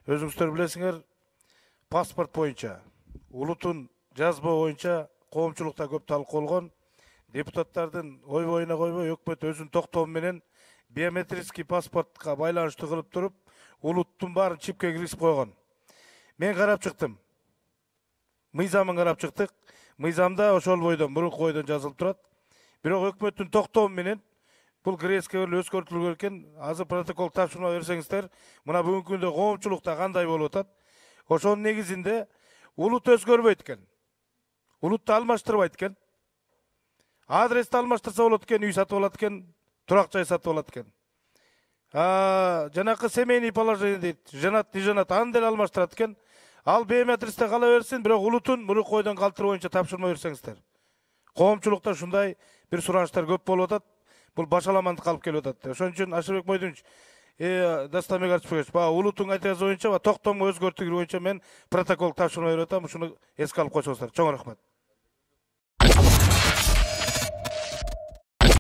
Өзүңүздөр билесиңер, паспорт боюнча, улутун жазба боюнча коомчулукта көп талкууланган. Депутаттардын ой боюна койбой, өкмөт өзүнүн токтому менен биометрический паспортко байланыштуу кылып туруп, улуттун баарын чипке киргизип койгон. Мен карап чыктым. Мыйзамын карап чыктык. Мыйзамда ошол бойдон, мурунку бойдон жазылып турат. Бирок өкмөттүн токтому менен бул кирээске өзгөртүлгөн экен. Азыр протокол тапшырма берсеңиздер, мына бүгүнкү күндө коомчулукта кандай болуп атат? Ошонун негизинде улут өзгөрбөйт экен. Улутты алмаштырбайт экен. Адрести алмаштырса болот экен, үй сатып алат экен, турак жай сатып алат экен. Жанакы семейный положение дейт, женат, не женат, аны деле алмаштырат экен. Ал биометристе кала берсин, бирок улутун мурунку койдон калтыруу боюнча тапшырма берсеңиздер. Коомчулукта ушундай бир сураныштар көп болуп атат. Бул башаламандыкка алып келип атат. Ошон үчүн Ашырбек Мойдунович, Дастамбек Артышбекович, баягы улуттун айтыгы боюнча, токтому өзгөртүү боюнча мен протокол тапшырма берип атам. Ушуну эске алып койсоңуздар. Чоң рахмат.